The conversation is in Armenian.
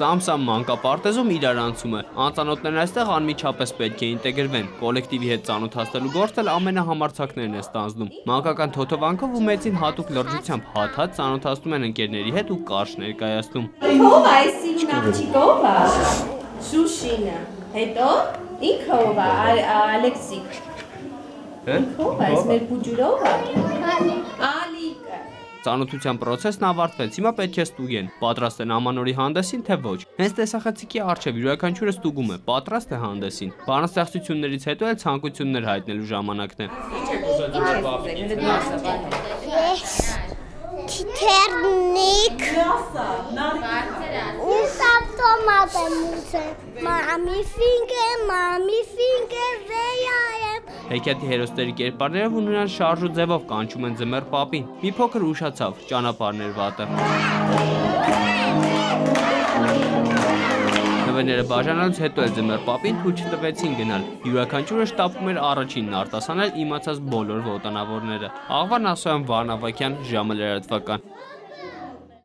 Սամ մանկապարտեզում իրար անցում է։ Անծանոթներն այստեղ անմիջապես պետք է ինտեգրվեն։ Կոլեկտիվի հետ ծանոթացնելու գործը ամենահամարձակներն է ստանձնում։ Մանկական թոթովանքով ու մեծին հատուկ լրջությամբ հատ-հատ ծանոթացնում են ընկերների հետ ու կարճ ներկայացնում։ Ով է սիրուն աղջիկով է։ Շուշինը։ Հետո ինքը ով է Ալեքսիկ։ Ով է մեր բուջուրով է։ Ալիկը։ Ծանոթության process-ն ավարտվեց, հիմա պետք է ստուգեն, պատրաստ են ամանորի հանդեսին, թե ոչ։ Հենց տեսախցիկի առջև յուրաքանչյուրը ստուգում է, պատրաստ է հանդեսին։ Բանաստեղծություններից հետո էլ ցանկություններ հայտնելու ժամանակն է։ Թիթեռնիկ ու սապտոմատ եմ ուզում, մամի ֆինգեր վեյայեմ։ Հեքիաթի հերոսների կերպարներով ու նրանց շարժ ու ձևով կանչում են ձմեռ պապին։ Մի փոքր ուշացավ, ճանապարհներ վատը։ Նվերները բաժանելուց հետո էլ ձմեռ պապին թույլ չտվեցին գնալ։ Յուրաքանչյուրը շտապում էր առաջինն արտասանել իմացած բոլոր ոտանավորները։ Աղվան Ասոյան, Վարն Ավագյան, ժամը լրատվական։